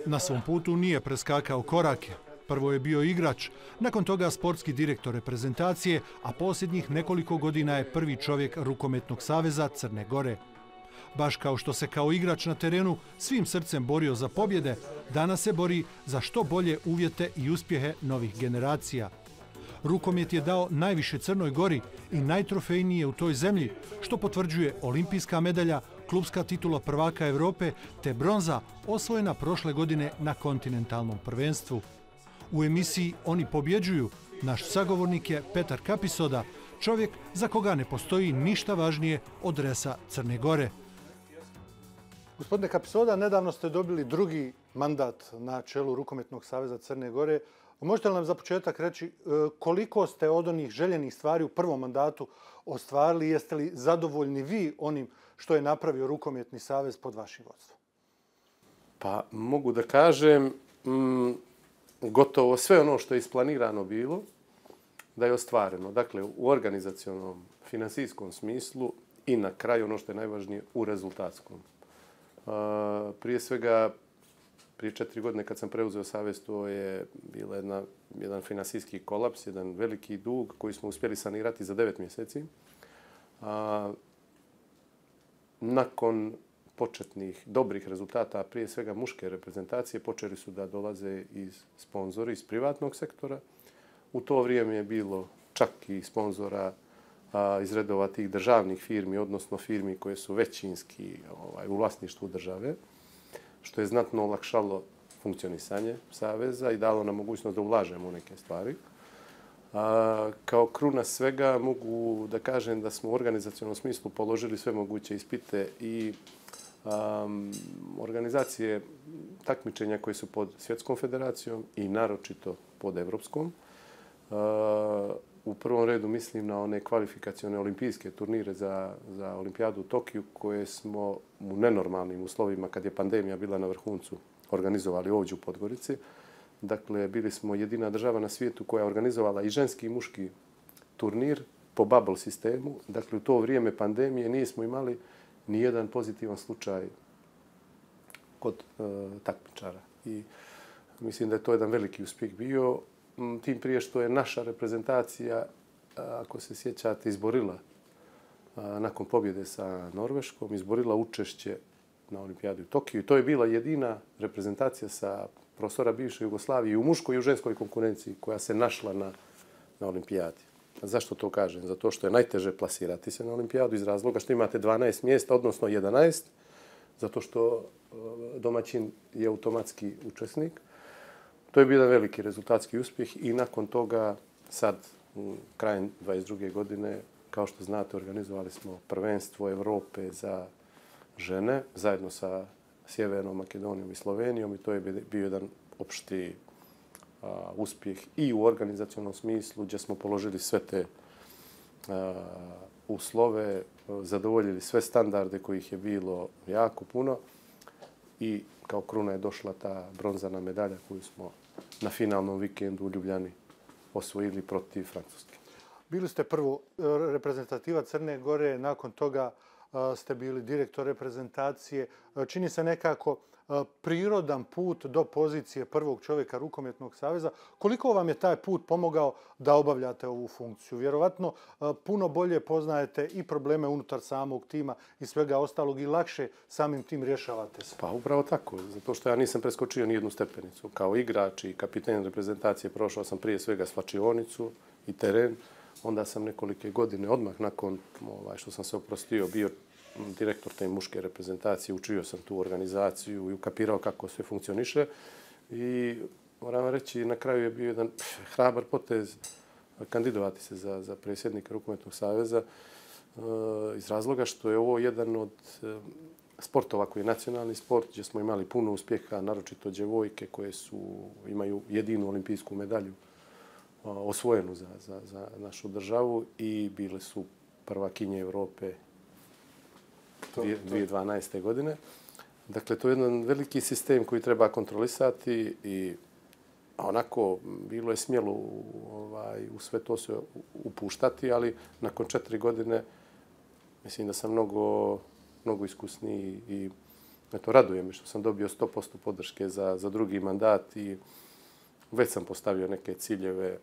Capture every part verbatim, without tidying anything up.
Na svom putu nije preskakao korake. Prvo je bio igrač, nakon toga sportski direktor reprezentacije, a posljednjih nekoliko godina je prvi čovjek Rukometnog saveza Crne Gore. Baš kao što se kao igrač na terenu svim srcem borio za pobjede, danas se bori za što bolje uvjete i uspjehe novih generacija. Rukomet je dao najviše Crnoj Gori i najtrofejnije u toj zemlji, što potvrđuje olimpijska medalja, klubska titula prvaka Europe te bronza osvojena prošle godine na kontinentalnom prvenstvu. U emisiji Oni pobjeđuju naš sagovornik je Petar Kapisoda, čovjek za koga ne postoji ništa važnije od dresa Crne Gore. Gospodine Kapisoda, nedavno ste dobili drugi mandat na čelu Rukometnog saveza Crne Gore. Možete li nam za početak reći koliko ste od onih željenih stvari u prvom mandatu ostvarili? Jeste li zadovoljni vi onim što je napravio Rukometni savez pod vašim vodstvom? Pa mogu da kažem mm, gotovo sve ono što je isplanirano bilo da je ostvareno. Dakle, u organizacionom, finansijskom smislu i na kraju ono što je najvažnije u rezultatskom. Uh, prije svega, prije četiri godine kad sam preuzeo savez, to je bila jedna, jedan finansijski kolaps, jedan veliki dug koji smo uspjeli sanirati za devet mjeseci. A, nakon početnih dobrih rezultata, prije svega muške reprezentacije, počeli su da dolaze iz sponzori, iz privatnog sektora. U to vrijeme je bilo čak i sponzora a, iz redova tih državnih firmi, odnosno firmi koje su većinski ovaj, u vlasništvu države, što je znatno olakšalo funkcionisanje saveza i dalo nam mogućnost da ulažemo u neke stvari. A, kao kruna svega mogu da kažem da smo u organizacionom smislu položili sve moguće ispite i um, organizacije takmičenja koje su pod Svjetskom federacijom i naročito pod Evropskom. A, u prvom redu mislim na one kvalifikacione olimpijske turnire za, za olimpijadu u Tokiju koje smo u nenormalnim uslovima, kad je pandemija bila na vrhuncu, organizovali ovdje u Podgorici. Dakle, bili smo jedina država na svijetu koja je organizovala i ženski i muški turnir po bubble sistemu. Dakle, u to vrijeme pandemije nismo imali ni jedan pozitivan slučaj kod e, takmičara. I mislim da je to jedan veliki uspjeh bio. Tim prije što je naša reprezentacija, ako se sjećate, izborila nakon pobjede sa Norveškom, izborila učešće na olimpijadi u Tokiju. I to je bila jedina reprezentacija sa prostora bivše Jugoslavije u muškoj i u ženskoj konkurenciji koja se našla na, na olimpijadi. Zašto to kažem? Zato što je najteže plasirati se na olimpijadu iz razloga što imate dvanaest mjesta, odnosno jedanaest, zato što domaćin je automatski učesnik. To je bio jedan veliki rezultatski uspjeh i nakon toga sad, krajem dvadeset druge godine, kao što znate, organizovali smo prvenstvo Evrope za žene zajedno sa Sjevernom Makedonijom i Slovenijom i to je bio jedan opšti a, uspjeh i u organizacionalnom smislu gdje smo položili sve te a, uslove, zadovoljili sve standarde kojih je bilo jako puno i kao kruna je došla ta bronzana medalja koju smo na finalnom vikendu u Ljubljani osvojili protiv Francuske. Bili ste prvo reprezentativa Crne Gore, nakon toga ste bili direktor reprezentacije. Čini se nekako prirodan put do pozicije prvog čovjeka Rukometnog saveza. Koliko vam je taj put pomogao da obavljate ovu funkciju? Vjerovatno puno bolje poznajete i probleme unutar samog tima i svega ostalog i lakše samim tim rješavate se. Pa upravo tako, zato što ja nisam preskočio ni jednu stepenicu. Kao igrač i kapiten reprezentacije prošao sam prije svega slačionicu i teren. Onda sam nekolike godine odmah nakon ovaj, što sam se oprostio bio direktor te muške reprezentacije, učio sam tu organizaciju i ukapirao kako sve funkcioniše. I moram reći, na kraju je bio jedan hrabar potez kandidovati se za, za predsjednika Rukometnog saveza uh, iz razloga što je ovo jedan od uh, sportova koji je nacionalni sport, gdje smo imali puno uspjeha, naročito djevojke koje su, imaju jedinu olimpijsku medalju uh, osvojenu za, za, za našu državu i bile su prvakinje Europe dvije tisuće dvanaeste. godine. Dakle, to je jedan veliki sistem koji treba kontrolisati i onako bilo je smjelo ovaj, u sve to se upuštati, ali nakon četiri godine mislim da sam mnogo, mnogo iskusniji i eto, raduje me što sam dobio sto posto podrške za, za drugi mandat i već sam postavio neke ciljeve.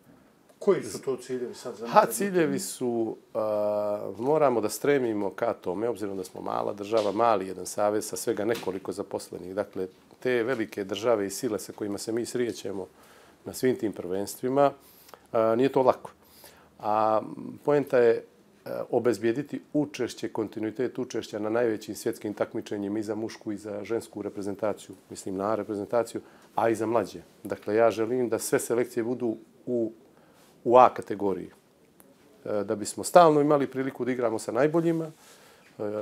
Koji su to ciljevi sad za Ha, ciljevi su, a, moramo da stremimo ka tome, obzirom da smo mala država, mali jedan savez sa svega nekoliko zaposlenih. Dakle, te velike države i sile sa kojima se mi srijećemo na svim tim prvenstvima, a, nije to lako. A poenta je obezbijediti učešće, kontinuitet učešća na najvećim svjetskim takmičenjima i za mušku i za žensku reprezentaciju, mislim na reprezentaciju, a i za mlađe. Dakle, ja želim da sve selekcije budu u, u A kategoriji. Da bismo stalno imali priliku da igramo sa najboljima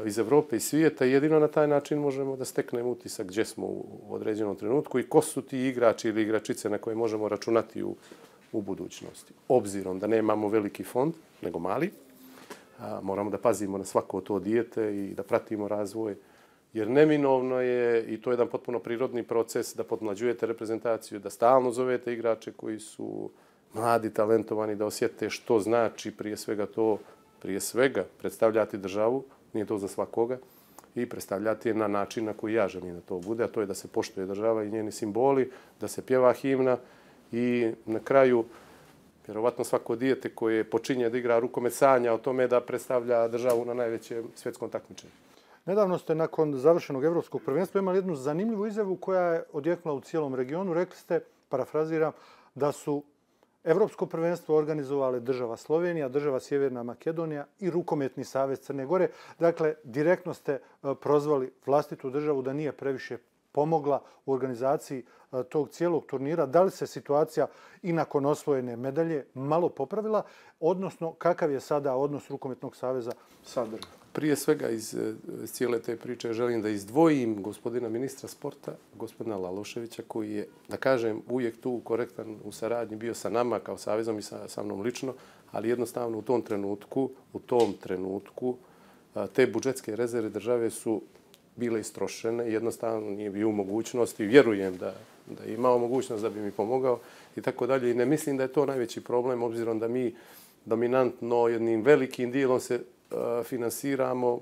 iz Evrope i svijeta. Jedino na taj način možemo da steknemo utisak gdje smo u određenom trenutku i ko su ti igrači ili igračice na koje možemo računati u, u budućnosti. Obzirom da nemamo veliki fond, nego mali, moramo da pazimo na svako to dijete i da pratimo razvoj. Jer neminovno je, i to je jedan potpuno prirodni proces, da podmlađujete reprezentaciju, da stalno zovete igrače koji su mladi, talentovani, da osjete što znači prije svega to, prije svega predstavljati državu, nije to za svakoga, i predstavljati je na način na koji ja želim da to bude, a to je da se poštuje država i njeni simboli, da se pjeva himna i na kraju vjerovatno svako dijete koje počinje da igra rukomet sanja o tome da predstavlja državu na najvećem svjetskom takmičenju. Nedavno ste nakon završenog evropskog prvenstva imali jednu zanimljivu izjavu koja je odjeknula u cijelom regionu. Rekli ste, parafraziram, da su evropsko prvenstvo organizovale država Slovenija, država Sjeverna Makedonija i Rukometni savez Crne Gore. Dakle, direktno ste prozvali vlastitu državu da nije previše pomogla u organizaciji tog cijelog turnira. Da li se situacija i nakon osvojene medalje malo popravila, odnosno kakav je sada odnos Rukometnog saveza sa državom? Prije svega iz cijele te priče želim da izdvojim gospodina ministra sporta, gospodina Laloševića, koji je, da kažem, uvijek tu korektan u saradnji bio sa nama kao savezom i sa, sa mnom lično, ali jednostavno u tom trenutku, u tom trenutku te budžetske rezerve države su bile istrošene, jednostavno nije bio u mogućnosti, vjerujem da, da je imao mogućnost da bi mi pomogao i tako dalje. I ne mislim da je to najveći problem, obzirom da mi dominantno jednim velikim dijelom se uh, finansiramo uh,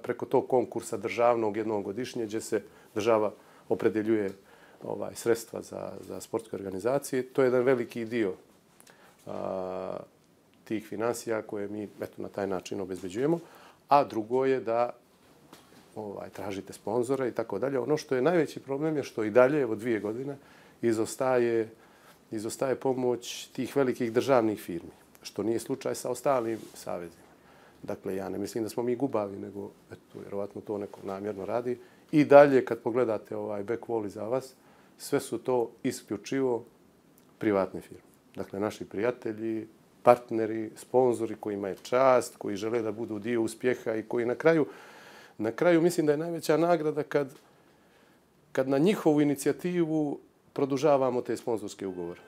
preko tog konkursa državnog jednog godišnje, gdje se država opredeljuje ovaj, sredstva za, za sportske organizacije. To je jedan veliki dio uh, tih finansija koje mi eto, na taj način obezbeđujemo. A drugo je da Ovaj, tražite sponzora i tako dalje. Ono što je najveći problem je što i dalje, evo dvije godine, izostaje, izostaje pomoć tih velikih državnih firmi, što nije slučaj sa ostalim savezima. Dakle, ja ne mislim da smo mi gubavi, nego eto, vjerovatno to neko namjerno radi. I dalje, kad pogledate ovaj back wall iza vas, sve su to isključivo privatne firme. Dakle, naši prijatelji, partneri, sponzori kojima je čast, koji žele da budu dio uspjeha i koji na kraju Na kraju mislim da je najveća nagrada kad, kad na njihovu inicijativu produžavamo te sponzorske ugovore.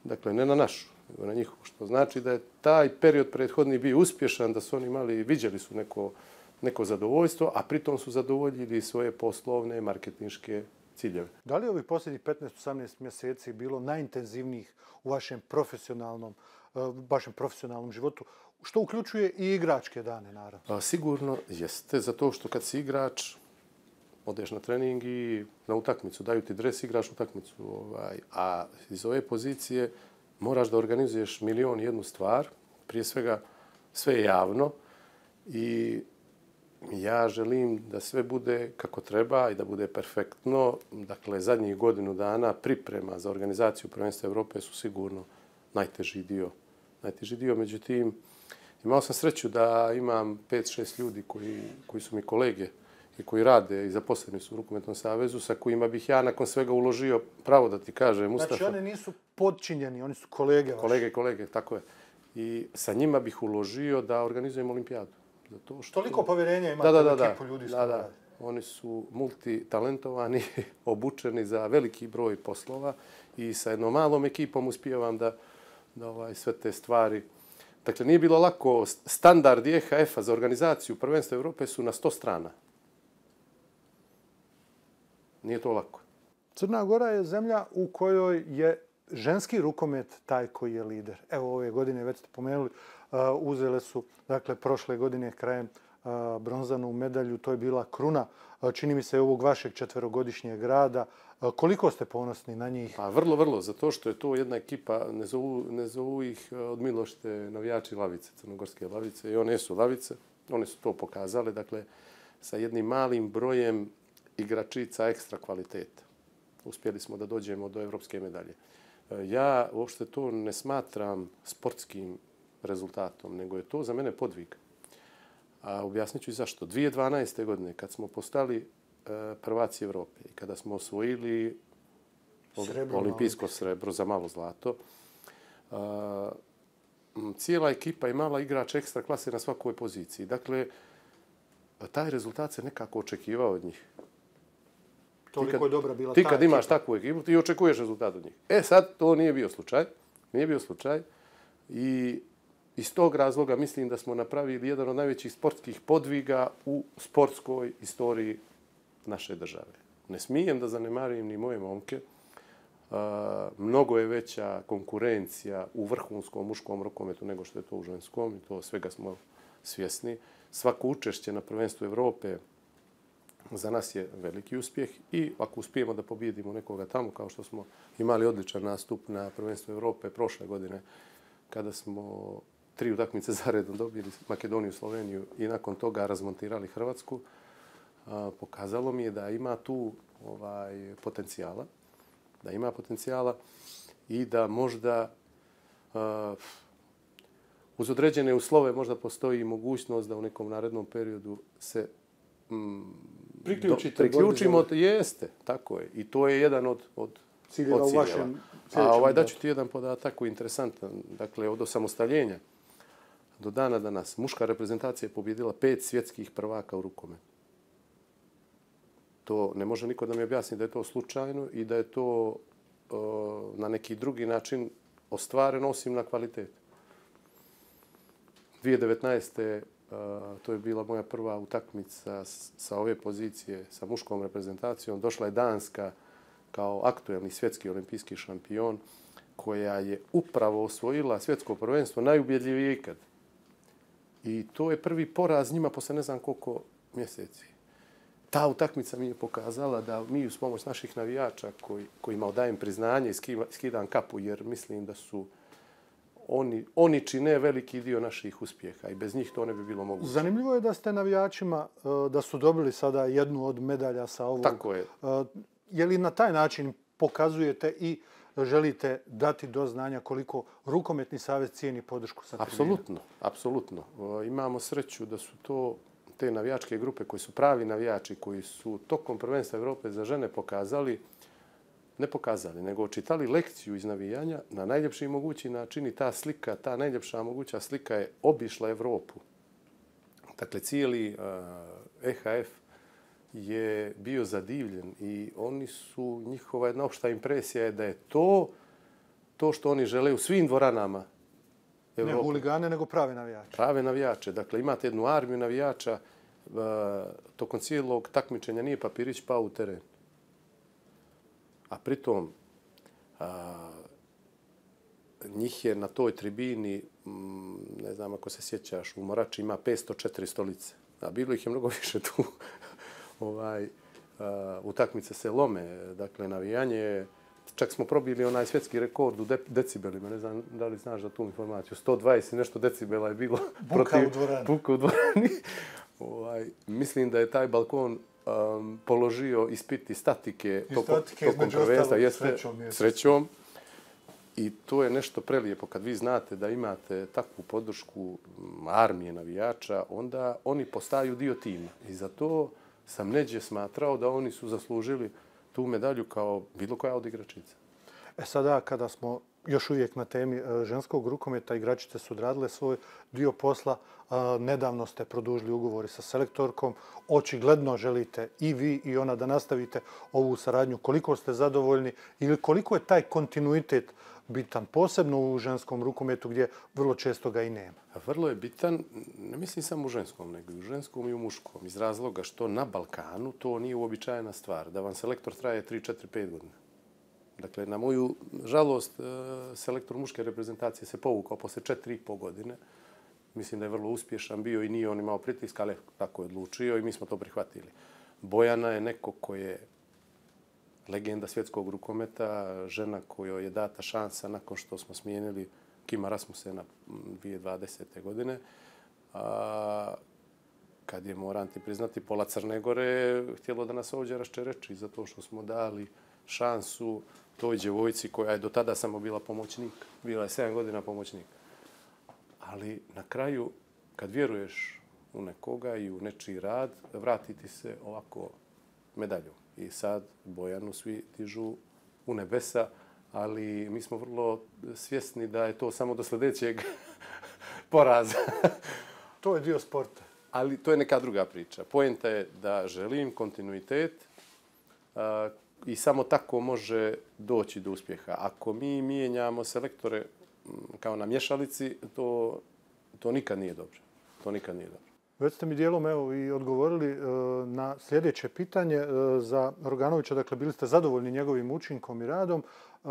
Dakle, ne na našu, nego na njihovu. Što znači da je taj period prethodni bio uspješan, da su oni imali, viđali su neko, neko zadovoljstvo, a pritom su zadovoljili svoje poslovne, marketinške ciljeve. Da li je ovih posljednjih petnaest do osamnaest mjeseci bilo najintenzivnijih u vašem profesionalnom, vašem profesionalnom životu, što uključuje i igračke dane, naravno? A, sigurno jeste, zato što kad si igrač, odeš na trening i na utakmicu, daju ti dres, igraš utakmicu. Ovaj, a iz ove pozicije moraš da organizuješ milion i jednu stvar, prije svega sve je javno i ja želim da sve bude kako treba i da bude perfektno. Dakle, zadnjih godinu dana priprema za organizaciju prvenstva Evrope su sigurno najteži dio. Najteži dio, međutim, imao sam sreću da imam pet šest ljudi koji, koji su mi kolege i koji rade i zaposleni su u Rukometnom savezu, sa kojima bih ja nakon svega uložio, pravo da ti kažem, Mustafa. Znači, oni nisu podčinjeni, oni su kolege vaši. Kolege, kolege, tako je. I sa njima bih uložio da organizujemo olimpijadu. Zato što... Toliko povjerenja imate da, da, u da, ekipu ljudi. Da, da. Oni su multitalentovani, obučeni za veliki broj poslova i sa jednom malom ekipom uspijevam da, da ovaj, sve te stvari... Dakle, nije bilo lako. Standardi E H F-a za organizaciju prvenstva Evrope su na sto strana. Nije to lako. Crna Gora je zemlja u kojoj je ženski rukomet taj koji je lider. Evo, ove godine, već ste pomenuli, uh, uzele su, dakle, prošle godine krajem bronzanu medalju. To je bila kruna, čini mi se, ovog vašeg četverogodišnjeg rada. Koliko ste ponosni na njih? Pa vrlo, vrlo, zato što je to jedna ekipa, ne zovu, ne zovu ih od milošte navijači Lavice, crnogorske Lavice, i one su Lavice, one su to pokazale, dakle, sa jednim malim brojem igračica ekstra kvaliteta. Uspjeli smo da dođemo do evropske medalje. Ja uopšte to ne smatram sportskim rezultatom, nego je to za mene podvig. A objasnit ću i zašto. dvije tisuće dvanaeste. godine, kad smo postali prvaci Evrope i kada smo osvojili srebro, olimpijsko srebro za malo zlato, cijela ekipa imala igrač ekstra klase na svakoj poziciji. Dakle, taj rezultat se nekako očekivao od njih. Toliko je dobra bila ta ekipa. Ti kad imaš takvu ekipu, ti očekuješ rezultat od njih. E sad, to nije bio slučaj. Nije bio slučaj. I iz tog razloga mislim da smo napravili jedan od najvećih sportskih podviga u sportskoj istoriji naše države. Ne smijem da zanemarim ni moje momke. Mnogo je veća konkurencija u vrhunskom muškom rukometu nego što je to u ženskom i to svega smo svjesni. Svako učešće na prvenstvu Evrope za nas je veliki uspjeh i ako uspijemo da pobijedimo nekoga tamo, kao što smo imali odličan nastup na prvenstvu Evrope prošle godine, kada smo tri utakmice zaredom dobili Makedoniju, Sloveniju i nakon toga razmontirali Hrvatsku, pokazalo mi je da ima tu ovaj, potencijala, da ima potencijala i da možda uh, uz određene uslove možda postoji mogućnost da u nekom narednom periodu se mm, Priključite, do, priključimo. Jeste, tako je. I to je jedan od, od ciljeva u vašem A ovaj, daću ti jedan podatak koji je interesantan. Dakle, od osamostaljenja do dana danas muška reprezentacija je pobjedila pet svjetskih prvaka u rukometu. To ne može niko da mi objasni da je to slučajno i da je to uh, na neki drugi način ostvareno osim na kvalitetu. dvije tisuće devetnaeste. Uh, to je bila moja prva utakmica sa ove pozicije sa muškom reprezentacijom. Došla je Danska kao aktuelni svjetski olimpijski šampion koja je upravo osvojila svjetsko prvenstvo najubjedljivije ikad. I to je prvi poraz njima posle ne znam koliko mjeseci. Ta utakmica mi je pokazala da mi uz pomoć naših navijača koji, kojima odajem priznanje i skidam kapu jer mislim da su oni, oni čine veliki dio naših uspjeha i bez njih to ne bi bilo moguće. Zanimljivo je da ste navijačima, da su dobili sada jednu od medalja sa ovog. Tako je. Je li na taj način pokazujete i želite dati do znanja koliko rukometni savez cijeni podršku sa tribina? Apsolutno, apsolutno. Imamo sreću da su to te navijačke grupe koji su pravi navijači, koji su tokom prvenstva Evrope za žene pokazali, ne pokazali, nego očitali lekciju iz navijanja na najljepši mogući način i ta slika, ta najljepša moguća slika je obišla Evropu. Dakle, cijeli E H F je bio zadivljen i oni su, njihova jedna opšta impresija je da je to to što oni žele u svim dvoranama Evrope. Ne huligane, nego prave navijače. Prave navijače. Dakle, imate jednu armiju navijača. Tokom cijelog takmičenja nije papirić pao u teren. A pritom a, njih je na toj tribini, m, ne znam ako se sjećaš, u Morači ima petsto četiri stolice. A bilo ih je mnogo više tu. ovaj, a, utakmice se lome. Dakle, navijanje. Čak smo probili onaj svjetski rekord u de decibelima. Ne znam da li znaš za tu informaciju. sto dvadeset nešto decibela je bilo. Buka protiv, u dvorani. Buka u dvorani. ovaj, mislim da je taj balkon um, položio ispiti statike, I toko, statike tokom prvenstva. Jeste srećom, srećom. I to je nešto prelijepo. Kad vi znate da imate takvu podršku armije navijača, onda oni postaju dio tima. I zato sam neđe smatrao da oni su zaslužili tu medalju kao bilo koja od igračica. E sada, kada smo još uvijek na temi ženskog rukometa, igračice su odradile svoj dio posla. Nedavno ste produžili ugovori sa selektorkom. Očigledno želite i vi i ona da nastavite ovu saradnju. Koliko ste zadovoljni ili koliko je taj kontinuitet bitan, posebno u ženskom rukometu gdje vrlo često ga i nema? Vrlo je bitan, ne mislim samo u ženskom, nego i u ženskom i u muškom. Iz razloga što na Balkanu to nije uobičajena stvar. Da vam selektor traje tri, četiri, pet godina. Dakle, na moju žalost, selektor muške reprezentacije se povukao posle četiri i po godine Mislim da je vrlo uspješan bio i nije on imao pritiska, ali tako je odlučio i mi smo to prihvatili. Bojana je neko ko je legenda svjetskog rukometa, žena kojoj je data šansa nakon što smo smijenili Kima Rasmusena dvije tisuće dvadesete. godine. A, kad je, moram ti priznati, pola Crne Gore htjelo da nas ovdje raščereči zato što smo dali šansu toj djevojci koja je do tada samo bila pomoćnik. Bila je sedam godina pomoćnik. Ali na kraju, kad vjeruješ u nekoga i u nečiji rad, vrati ti se ovako medalju. I sad Bojanu svi dižu u nebesa, ali mi smo vrlo svjesni da je to samo do sljedećeg poraza. To je dio sporta. Ali to je neka druga priča. Poenta je da želim kontinuitet a, i samo tako može doći do uspjeha. Ako mi mijenjamo selektore kao na mješalici, to, to nikad nije dobro. To nikad nije dobro. Već ste mi dijelom evo, i odgovorili e, na sljedeće pitanje e, za Roganovića. Dakle, bili ste zadovoljni njegovim učinkom i radom. E,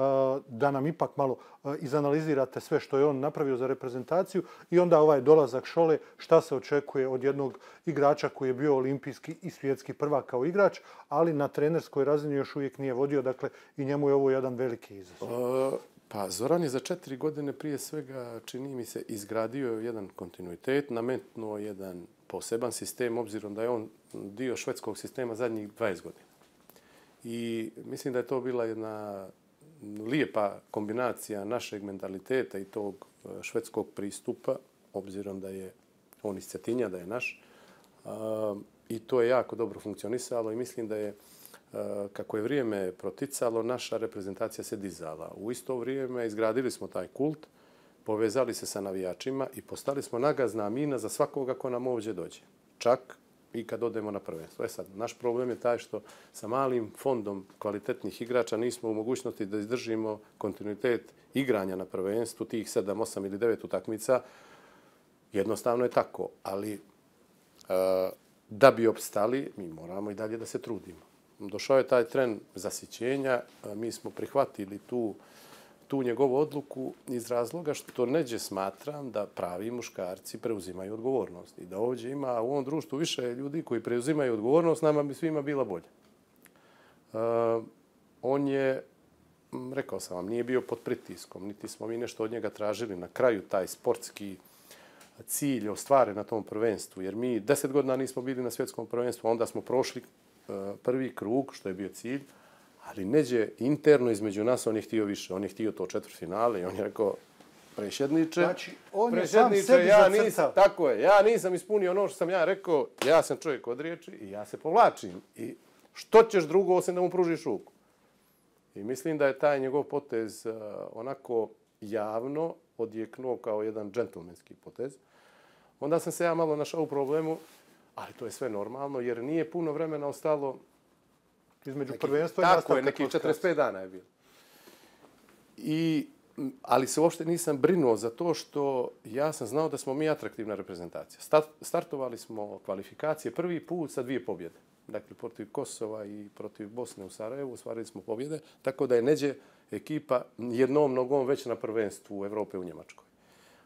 da nam ipak malo e, izanalizirate sve što je on napravio za reprezentaciju i onda ovaj dolazak Šole, šta se očekuje od jednog igrača koji je bio olimpijski i svjetski prvak kao igrač, ali na trenerskoj razini još uvijek nije vodio. Dakle, i njemu je ovo jedan veliki izazov. Uh... Pa Zoran je za četiri godine prije svega, čini mi se, izgradio jedan kontinuitet, nametnuo jedan poseban sistem, obzirom da je on dio švedskog sistema zadnjih dvadeset godina. I mislim da je to bila jedna lijepa kombinacija našeg mentaliteta i tog švedskog pristupa, obzirom da je on iz Cetinja, da je naš. I to je jako dobro funkcionisalo i mislim da je, kako je vrijeme proticalo, naša reprezentacija se dizala. U isto vrijeme izgradili smo taj kult, povezali se sa navijačima i postali smo nagazna mina za svakoga ko nam ovdje dođe. Čak i kad odemo na prvenstvo. E sad, naš problem je taj što sa malim fondom kvalitetnih igrača nismo u mogućnosti da izdržimo kontinuitet igranja na prvenstvu, tih sedam, osam ili devet utakmica. Jednostavno je tako, ali da bi opstali, mi moramo i dalje da se trudimo. Došao je taj tren zasićenja, mi smo prihvatili tu, tu njegovu odluku iz razloga što neđe smatram da pravi muškarci preuzimaju odgovornost. I da ovdje ima u ovom društvu više ljudi koji preuzimaju odgovornost, nama bi svima bila bolje. Uh, on je, rekao sam vam, nije bio pod pritiskom, niti smo mi nešto od njega tražili. Na kraju taj sportski cilj ostvaren na tom prvenstvu, jer mi deset godina nismo bili na svjetskom prvenstvu, onda smo prošli prvi krug, što je bio cilj, ali neđe interno između nas on je htio više. On je htio to četvrtfinale i on je rekao, prešedniče, znači, on je sam sebi ja zacrtao. nisam, tako je, ja nisam ispunio ono što sam ja rekao, ja sam čovjek od riječi i ja se povlačim. I što ćeš drugo osim da mu pružiš ruku? I mislim da je taj njegov potez uh, onako javno odjeknuo kao jedan džentlmenski potez. Onda sam se ja malo našao u problemu, ali to je sve normalno, jer nije puno vremena ostalo između neki, prvenstva i nastavka. Tako je, nekih četrdeset pet dana je bilo. I, ali se uopšte nisam brinuo za to što ja sam znao da smo mi atraktivna reprezentacija. Start, startovali smo kvalifikacije prvi put sa dvije pobjede. Dakle, protiv Kosova i protiv Bosne u Sarajevu ostvarili smo pobjede, tako da je neđe ekipa jednom nogom već na prvenstvu Evrope u Njemačkoj.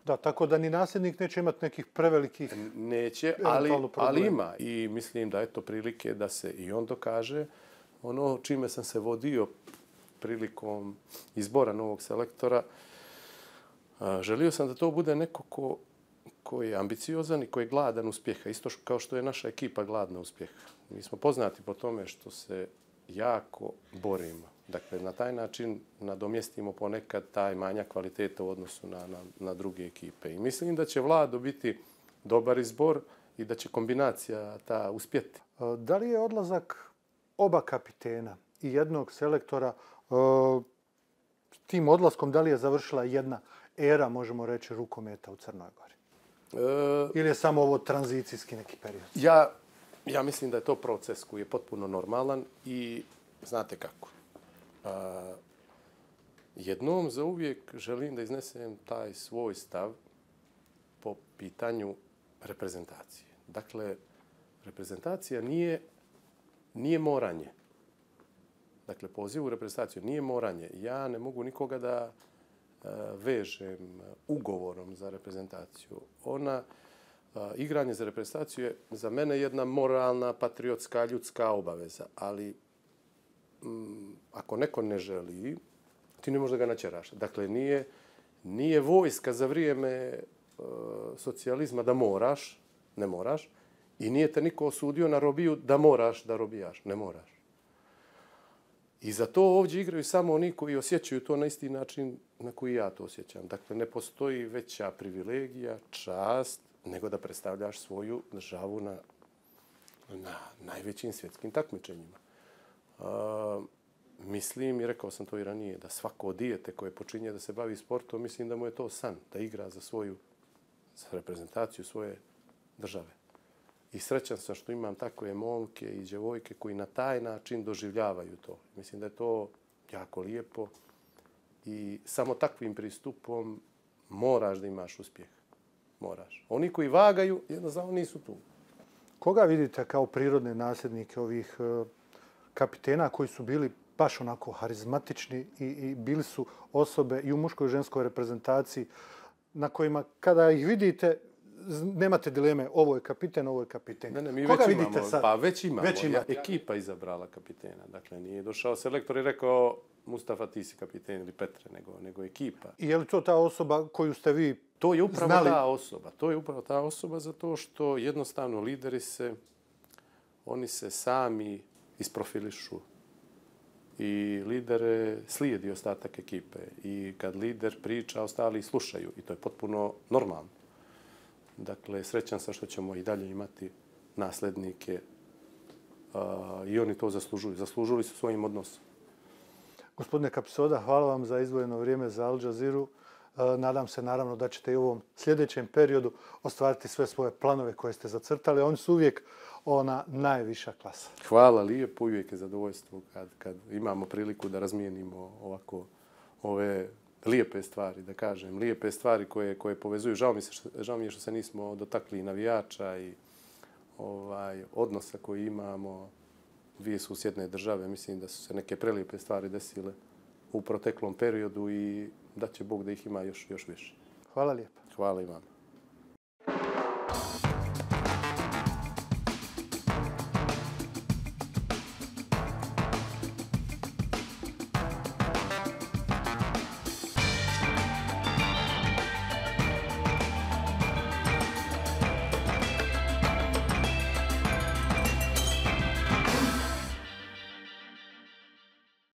Da, tako da ni nasljednik neće imati nekih prevelikih Neće, ali, ali ima. I mislim da je to prilike da se i on dokaže. Ono čime sam se vodio prilikom izbora novog selektora, želio sam da to bude neko ko, ko je ambiciozan i ko je gladan uspjeha. Isto kao što je naša ekipa gladna uspjeha. Mi smo poznati po tome što se jako borimo. Dakle, na taj način nadomjestimo ponekad taj manjak kvaliteta u odnosu na, na, na druge ekipe. I mislim da će Vlado biti dobar izbor i da će kombinacija ta uspjeti. Da li je odlazak oba kapitena i jednog selektora, tim odlaskom da li je završila jedna era, možemo reći, rukometa u Crnoj Gori? E, Ili je samo ovo tranzicijski neki period? Ja, ja mislim da je to proces koji je potpuno normalan i znate kako. Uh, jednom za uvijek želim da iznesem taj svoj stav po pitanju reprezentacije. Dakle, reprezentacija nije, nije moranje. Dakle, poziv u reprezentaciju nije moranje. Ja ne mogu nikoga da, vežem ugovorom za reprezentaciju. Ona, igranje za reprezentaciju je za mene jedna moralna, patriotska, ljudska obaveza. Ali m, ako neko ne želi, ti ne možeš da ga načeraš. Dakle, nije, nije vojska za vrijeme e, socijalizma da moraš, ne moraš, i nije te niko osudio na robiju da moraš da robijaš. Ne moraš. I za to ovdje igraju samo oni koji osjećaju to na isti način na koji ja to osjećam. Dakle, ne postoji veća privilegija, čast, nego da predstavljaš svoju državu na, na najvećim svjetskim takmičenjima. Uh, mislim, i rekao sam to i ranije, da svako dijete koje počinje da se bavi sportom, mislim da mu je to san, da igra za svoju za reprezentaciju svoje države. I srećan sam što imam takve momke i djevojke koji na taj način doživljavaju to. Mislim da je to jako lijepo i samo takvim pristupom moraš da imaš uspjeh. Moraš. Oni koji vagaju, jednostavno nisu tu. Koga vidite kao prirodne nasljednike ovih kapitena koji su bili baš onako harizmatični i, i bili su osobe i u muškoj i ženskoj reprezentaciji na kojima kada ih vidite nemate dileme, ovo je kapiten, ovo je kapiten. Ne, ne, mi Koga već vidite imamo, sad? Pa već imamo. Već ja, ekipa izabrala kapitena. Dakle, nije došao selektor i rekao Mustafa, ti si kapiten ili Petre, nego, nego ekipa. I je li to ta osoba koju ste vi To je upravo znali? ta osoba. To je upravo ta osoba zato što jednostavno lideri se, oni se sami isprofilišu. I lidere slijedi ostatak ekipe. I kad lider priča, ostali slušaju. I to je potpuno normalno. Dakle, srećan sam što ćemo i dalje imati nasljednike uh, i oni to zaslužuju. Zaslužili su svojim odnosom. Gospodine Kapisoda, hvala vam za izdvojeno vrijeme za Al Jazeeru. Nadam se naravno da ćete i u ovom sljedećem periodu ostvariti sve svoje planove koje ste zacrtali. Oni su uvijek ona najviša klasa. Hvala lijepo, uvijek je zadovoljstvo kad, kad imamo priliku da razmijenimo ovako ove lijepe stvari, da kažem. Lijepe stvari koje, koje povezuju. Žao mi, se što, žao mi je što se nismo dotakli navijača i ovaj, odnosa koji imamo. Dvije susjedne države, mislim da su se neke prelijepe stvari desile u proteklom periodu i da će Bog da ih ima još, još više. Hvala lijepo. Hvala i vama.